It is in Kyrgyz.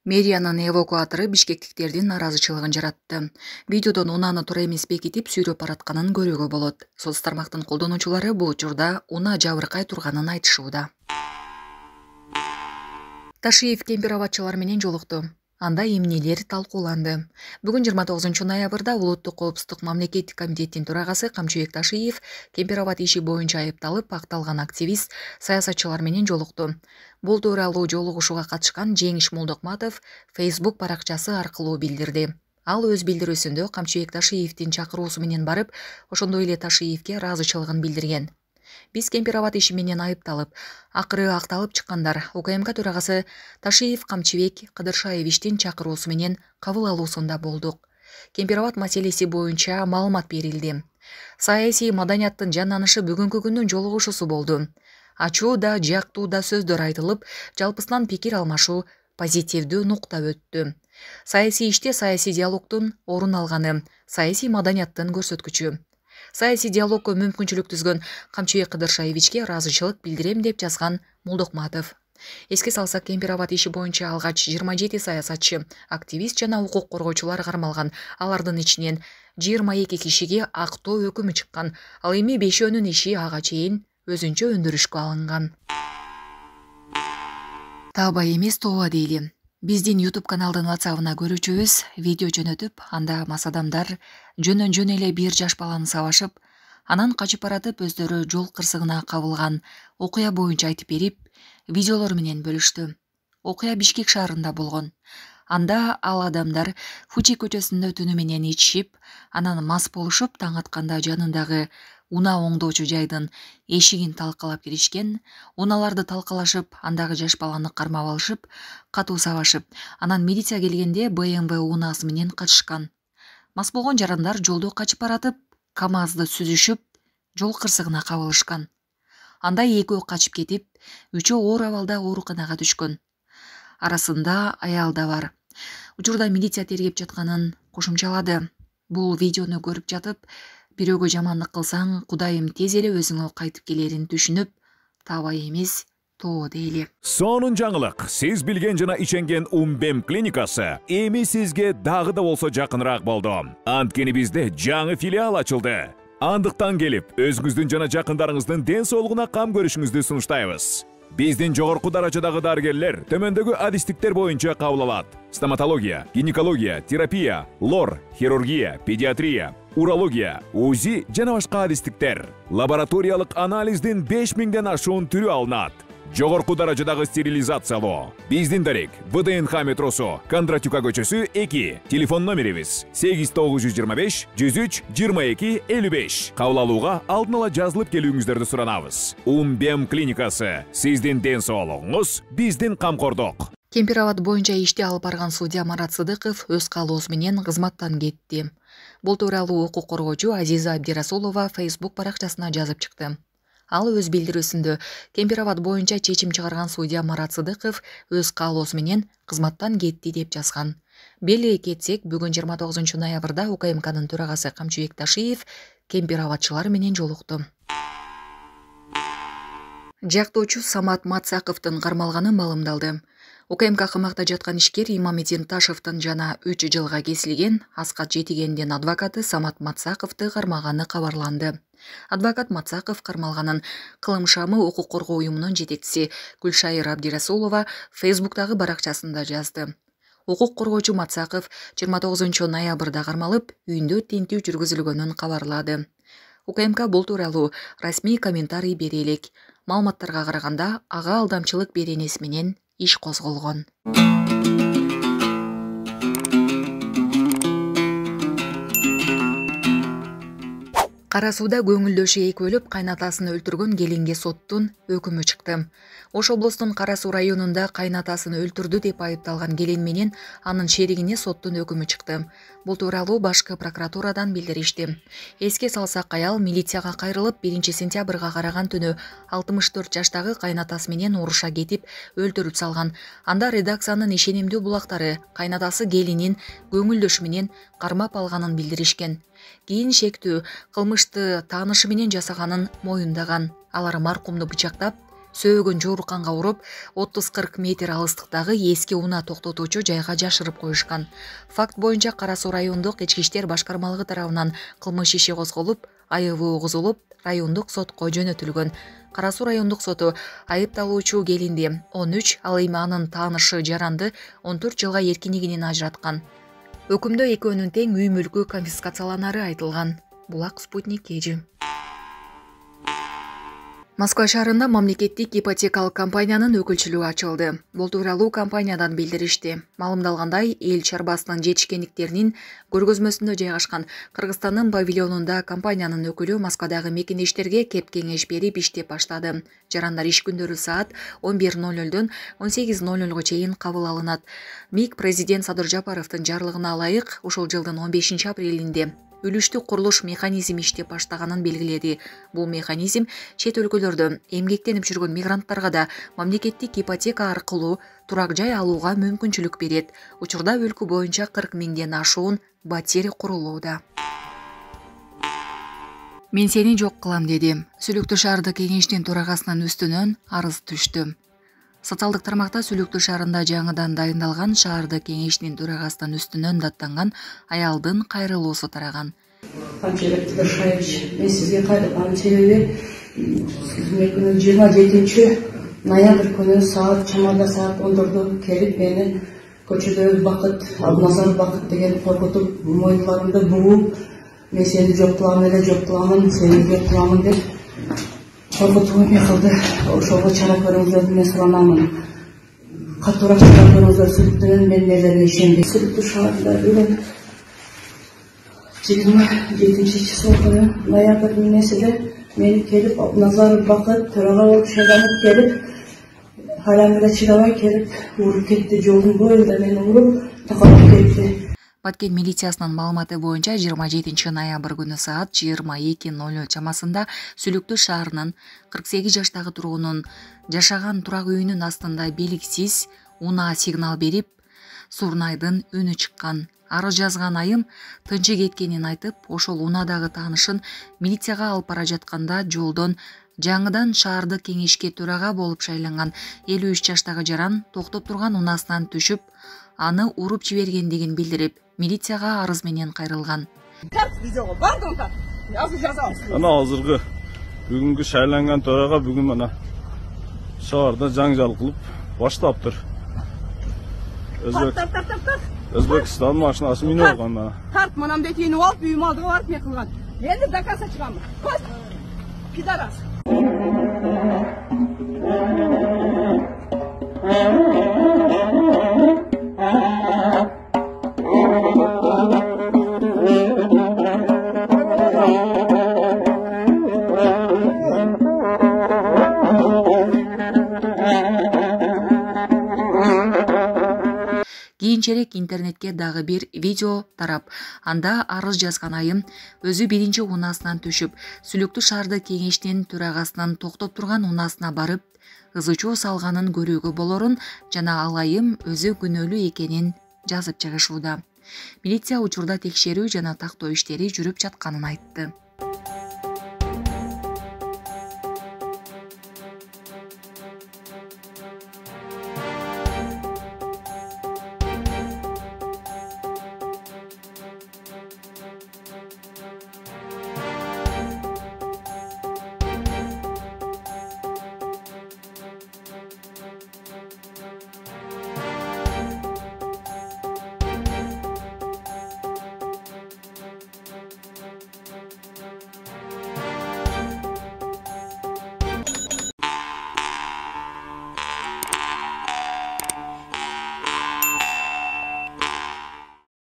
Мэриянын эвакуатору бишкектиктердин нааразычылыгын жаратты. Видеодон унааны туура эмес бекитип сүйрөп баратканын көрүүгө болот. Соц тармактын колдонуучулары бул учурда унаа жабыркай турганын айтышууда. Ташиев Кемпир-Абадчылар менен жолукту. Анда эмнелер талкууланды. Бүгүн 29 ноябрда Улуттук коопсуздук мамлекеттик комитеттин төрагасы Камчыбек Ташиев Кемпир-Абад иши боюнча айыпталып акталган активист, саясатчылар менен жолукту. Бул тууралуу жолугушууга катышкан Жеңиш Молдокматов Facebook баракчасы аркылуу билдирди. Ал өз билдирүүсүндө Камчыбек Ташиевдин чакыруусу менен барып, ошондой эле Ташиевге ыраазычылыгын билдирген. Биз Кемпир-Абад иши менен айыпталып, акыры акталып чыккандар. УКМК төрагасы Ташиев Камчыбек Кыдыршаевичтин чакыруусу менен кабыл алуусунда болдук. Кемпир-Абад маселеси боюнча маалымат берилди. Саясий маданияттын жанданышы бүгүнкү күндүн жолугушуусу болду. Ачуу да, жактуу да сөздөр айтылып, жалпысынан пикир алмашуу, позитивдүү нукта өттү. Саясий иште саясий диалогдун орун алганы, саясий маданияттын көрсөткүчү. Саясий диалогко мүмкүнчүлүк түзгөн Камчыбек Кыдыршаевичке ыраазычылык билдирем деп жазган Молдокматов. Эске салсак, Кемпир-Абад иши боюнча алгач 27 саясатчы, активист жана укук коргоочулар кармалган. Алардын ичинен 22 кишиге актоо өкүмү чыккан. Ал эми 5өөнүн иши ага чейин өзүнчө өндүрүшкө алынган. Таба эмес тооба дейли. Биздин YouTube каналдын WhatsApp-ына көрүүчүбүз видео жөнөтүп, анда мас адамдар жөн эле бир жаш баланы сабашып, анан качып баратып өздөрү жол кырсыгына кабылган окуя боюнча айтып берип, видеолор менен бөлүштү. Окуя Бишкек шаарында болгон. Анда ал адамдар Фучи көчөсүндө түнү менен ичишип, анан мас болушуп, таң атканда жанындагы унаа оңдоочу жайдын эшигин талкалап киришкен. Унааларды талкалашып, андагы жаш баланы кармап алышып, катуу сабашып, анан милиция келгенде BMW унаасы менен качышкан. Мас болгон жарандар жолдо качып баратып, КамАЗды сүзүшүп, жол кырсыгына кабылышкан. Анда экөө качып кетип, үчөө оор абалда ооруканага түшкөн. Арасында аял да бар. Учурда милиция тергеп жатканын кошумчалады. Бул видеону көрүп жатып, бирөөгө жамандык кылсаң, Кудайым тез эле өзүңө кайтып келерин түшүнүп, таба эмес, тоо дейли. Сонун жаңылык. Сиз билген жана ишенген Умбем клиникасы эми сизге дагы да болсо жакыныраак болду. Анткени бизде жаңы филиал ачылды. Андыктан келип, өзүңүздүн жана жакындарыңыздын ден соолугуна кам көрүшүңүздү сунуштайбыз. Биздин жогорку даражадагы дарыгерлер төмөндөгү адистиктер боюнча кабыл алат: стоматология, гинекология, терапия, лор, хирургия, педиатрия, урология, УЗИ жана башка адистиктер. Лабораториялык анализдин 5000ден ашуун түрү алынат. Жогорку даражадагы стерилизациялоо. Биздин дарек ВДНХ метросу, Кондратюка көчөсү 2. Телефон номерибиз 8925 103 22 55. Кабыл алууга алдын ала жазылып келүүңүздөрдү суранабыз. Умбем клиникасы. Сиздин ден соолугуңуз, биздин камкордук. Кемпир-Абад боюнча ишти алып барган судья Марат Сыдыков өз каалоосу менен кызматтан кетти. Бул тууралуу укук коргоочу Азиза Абдирасулова Facebook баракчасына жазып чыкты. Ал өз билдирүүсүндө Кемпир-Абад боюнча чечим чыгарган судья Марат Сыдыков өз каалоосу менен кызматтан кетти деп жазган. Беле кетсек, бүгүн 29 ноябрда УКМКнын төрагасы Камчыбек Ташиев Кемпир-Абадчылар менен жолукту. Жактоочу Самат Мацаковдун кармалганы маалымдалды. УКМК камакта жаткан ишкер Имамедин Ташевдин жана 3 жылга кесилген Аскат Жетигендин адвокаты Самат Мацаковду кармаганы кабарланды. Адвокат Мацаков кармалганын Кылым шамы укук коргоо уюмунун жетекчиси Гүлшайыр Абдирасулова Facebook'тагы баракчасында жазды. Укук коргоочу Мацаков 29 ноябрда кармалып, үйүндө тинтүү жүргүзүлгөнүн кабарлады. УКМК бул тууралуу расмий комментарий бере элек. Маалыматтарга караганда, ага алдамчылык беренеси менен иш козголгон. Кара сууда көңүлдөшү экөөлөп кайнатасын өлтүргөн келинге соттун өкүмү чыкты. Ош облустун Кара суу районунда кайнатасын өлтүрдү деп айыпталган келин менен анын шеригине соттун өкүмү чыкты. Бул тууралуу башкы прокуратурадан билдиришти. Эске салсак, аял милицияга кайрылып 1 сентябрга караган түнү 64 жаштагы кайнатасы менен уруша кетип өлтүрүп салган. Анда редакциянын ишенимдүү булактары кайнатасы келинин көңүлдөшү менен кармап алганын билдиришкен. Кийин шектүү кылмышты таанышы менен жасаганын моюндаган. Алар маркумду бычактап, сөөгөн жооруканга уруп 30-40 метр алыстыктагы эски унаа токтотуучу жайга жашырып коюшкан. Факт боюнча Кара Суу райондук ички иштер башкармалыгы тарабынан кылмыш иши козголуп, айыбы угузулуп, райондук сотко жөнөтүлгөн. Кара Суу райондук соту айыпталуучу келинди 13, ал эми анын таанышы Жаранды 14 жылга эркиндигинен ажыраткан. Өкүмдө экөөнүн тең үй мүлкү конфискацияланары айтылган. Булак Спутник KG. Москва шаарында мамлекеттик ипотекалык компаниянын өкүлчүлүгү ачылды. Бул тууралуу компаниядан билдиришти. Маалымдалгандай, эл чарбасынын жетишкендиктеринин көргөзмөсүндө жайгашкан Кыргызстандын павильонунда компаниянын өкүлү Москвадагы мекендештерге кеп кеңеш берип иштеп баштады. Жарандар иш күндөрү саат 11:00дөн 18:00га чейин кабыл алынат. МИГ президент Садыр Жапаровдун жарлыгына ылайык ушул жылдын 15 апрелинде үлүштүк курулуш механизми иштеп баштаганын белгиледи. Бул механизм чет өлкөлөрдө эмгектенип жүргөн мигранттарга да мамлекеттик ипотека аркылуу турак жай алууга мүмкүнчүлүк берет. Учурда өлкө боюнча 40 миңден ашуун батир курулууда. Мен сени жок кылам деди. Сүлүктүү шаардык кеңештин төрагасынын үстүнөн арыз түштү. Социалдык тармакта Сүлүктүү шаарында жаңыдан дайындалган шаардык кеңештин төрагасынын үстүнөн даттанган аялдын кайрылуусу тараган. Анчелек Тыдыршаевич, мен сизге кайрылганын себеби 27 ноябрь күнү чамада саат 10:00 келип мени көчөдө Бакыт, Абназар Бакыт деген коркутуп, мойнларымды бугуп, мен сени жок кылам эле, жок кыламын, сени жок кыламын деп коркутуп эме кылды. Ошого чара көрүңүздөр мен суранамын. Катуураак чара көрүңүздөр, Сүлүктүнүн мен нелерине ишенбейм. Сүлүктүү шаарында бүгүн 27 числа күнү ноябрдын несиде мен келип Абназар Бакыт төрага болуп шайланып келип, халам эле чыдабай келип уруп кетти. Жолдун боюнда мени уруп такалып кетти. Баткен милициясынын маалыматы боюнча 27 ноябрь күнү саат 22:00 чамасында Сүлүктүү шаарынын 48 жаштагы тургунун жашаган турак үйүнүн астында белгисиз унаа сигнал берип, Сурнайдын үнү чыккан. Арыз жазган айым тынчы кеткенин айтып, ошол унаадагы таанышын милицияга алып бара жатканда жолдон жаңыдан шаардык кеңешке төрага болуп шайланган 53 жаштагы Жаран токтоп турган унаасынан түшүп, аны уруп жибергендигин билдирип, милицияга арыз менен кайрылган. Ана азыркы бүгүнкү шайланган төрага бүгүн мына шаарда жаңжал кылып баштаптыр. Өзбекстан машинасы минип алган. Тарт мынамдек үйүнү алып, үй малдыга барып мен кылган. Эndi доказа чыгам. Көз пидорас. Кийинчерээк интернетке дагы бир видео тарап, анда арыз жазган айым өзү биринчи унаасынан түшүп, Сүлүктүү шаардык кеңештин төрагасынын токтоп турган унаасына барып, ызы чуу салганын көрүүгө болорун жана ал айым өзү күнөөлүү экенин жазып чыгышууда. Милиция учурда текшерүү жана тактоо иштери жүрүп жатканын айтты.